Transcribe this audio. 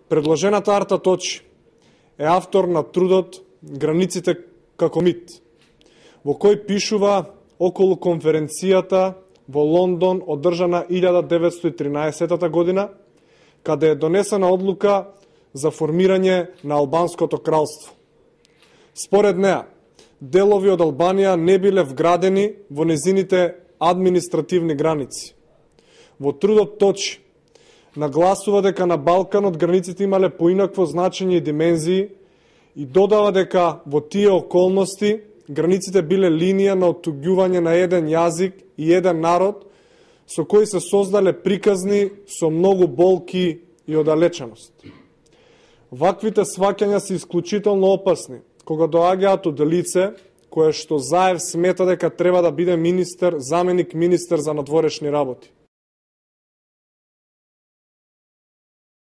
Предложената Арта Точи е автор на трудот Границите како мит, во кој пишува околу конференцијата во Лондон одржана 1913 година, каде е донесена одлука за формирање на Албанското кралство. Според неа, делови од Албанија не биле вградени во незините административни граници. Во трудот Точи нагласува дека на Балканот границите имале поинакво значење и димензии и додава дека во тие околности границите биле линија на оттуѓување на еден јазик и еден народ со кои се создале приказни со многу болки и оддалеченост. Ваквите сваќања се исклучително опасни кога доаѓаат од лице кое што Заев смета дека треба да биде заменик министер за надворешни работи.